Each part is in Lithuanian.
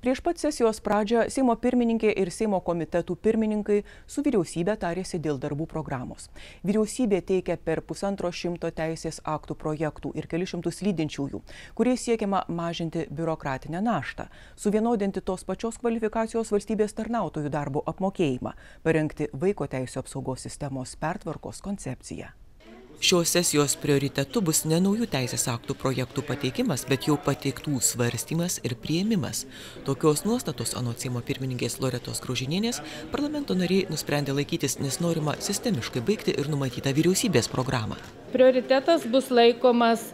Prieš pat sesijos pradžią Seimo pirmininkė ir Seimo komitetų pirmininkai su vyriausybė tarėsi dėl darbų programos. Vyriausybė teikia per 150 teisės aktų projektų ir kelius šimtus lydinčiųjų, kuriais siekiama mažinti biurokratinę naštą, suvienodinti tos pačios kvalifikacijos valstybės tarnautojų darbo apmokėjimą, parengti vaiko teisių apsaugos sistemos pertvarkos koncepciją. Šios sesijos prioritetu bus ne naujų teisės aktų projektų pateikimas, bet jau pateiktų svarstymas ir priėmimas. Tokios nuostatos, anot Seimo pirmininkės Loretos Graužinienės, parlamento nariai nusprendė laikytis, nes norima sistemiškai baigti ir numatytą vyriausybės programą. Prioritetas bus laikomas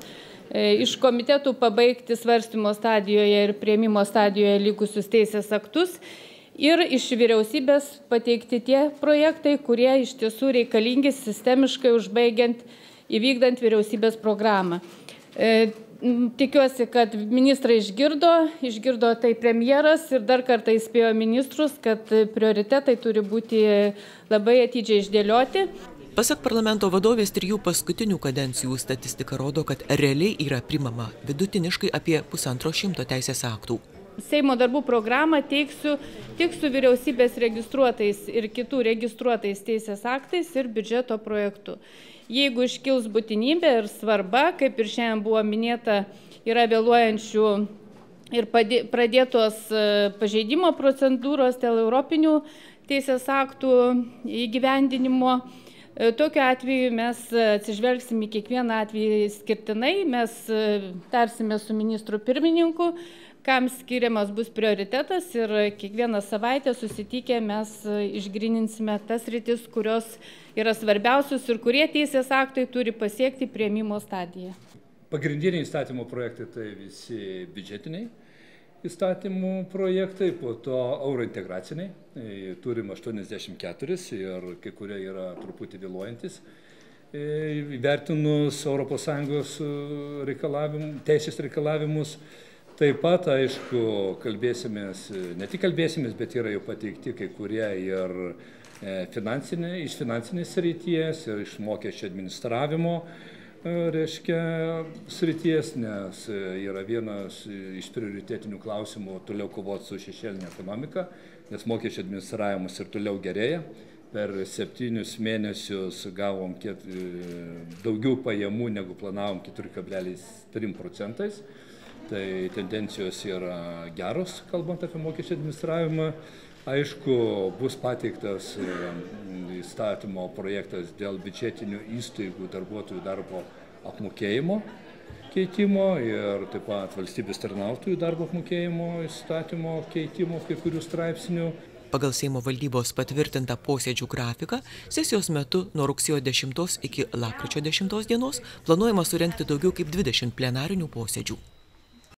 iš komitetų pabaigti svarstymo stadijoje ir priėmimo stadijoje likusius teisės aktus ir iš vyriausybės pateikti tie projektai, kurie iš tiesų reikalingi sistemiškai užbaigiant įvykdant vyriausybės programą. Tikiuosi, kad ministrai išgirdo tai premjeras ir dar kartą įspėjo ministrus, kad prioritetai turi būti labai atidžiai išdėlioti. Pasak parlamento vadovės, 3 paskutinių kadencijų statistika rodo, kad realiai yra primama vidutiniškai apie 150 teisės aktų. Seimo darbų programą teiksiu tik su vyriausybės registruotais ir kitų registruotais teisės aktais ir biudžeto projektu. Jeigu iškils būtinybė ir svarba, kaip ir šiandien buvo minėta, yra vėluojančių ir pradėtos pažeidimo procedūros dėl europinių teisės aktų įgyvendinimo, tokiu atveju mes atsižvelgsime į kiekvieną atvejį skirtinai, mes tarsime su ministru pirmininku, kam skiriamas bus prioritetas ir kiekvieną savaitę susitikę mes išgryninsime tas sritis, kurios yra svarbiausios ir kurie teisės aktai turi pasiekti priėmimo stadiją. Pagrindiniai įstatymo projektai tai visi biudžetiniai įstatymų projektai, po to eurointegraciniai, turim 84 ir kai kurie yra truputį vėluojantis. Įvertinus ES teisės reikalavimus, taip pat, aišku, ne tik kalbėsimės, bet yra jau pateikti kai kurie ir iš finansinės srities, ir iš mokesčių administravimo srities, nes yra vienas iš prioritetinių klausimų toliau kovoti su šešėlinė ekonomika, nes mokesčių administravimas ir toliau gerėja. Per 7 mėnesius gavom daugiau pajamų negu planavom 4,3%. Tai tendencijos yra geros, kalbant apie mokesčių administravimą. Aišku, bus pateiktas įstatymo projektas dėl biudžetinių įstaigų darbuotojų darbo apmokėjimo keitimo ir taip pat valstybės tarnautojų darbo apmokėjimo įstatymo keitimo kai kurių straipsnių. Pagal Seimo valdybos patvirtintą posėdžių grafiką, sesijos metu nuo rugsėjo 10 iki lapkričio 10 dienos planuojama surengti daugiau kaip 20 plenarinių posėdžių.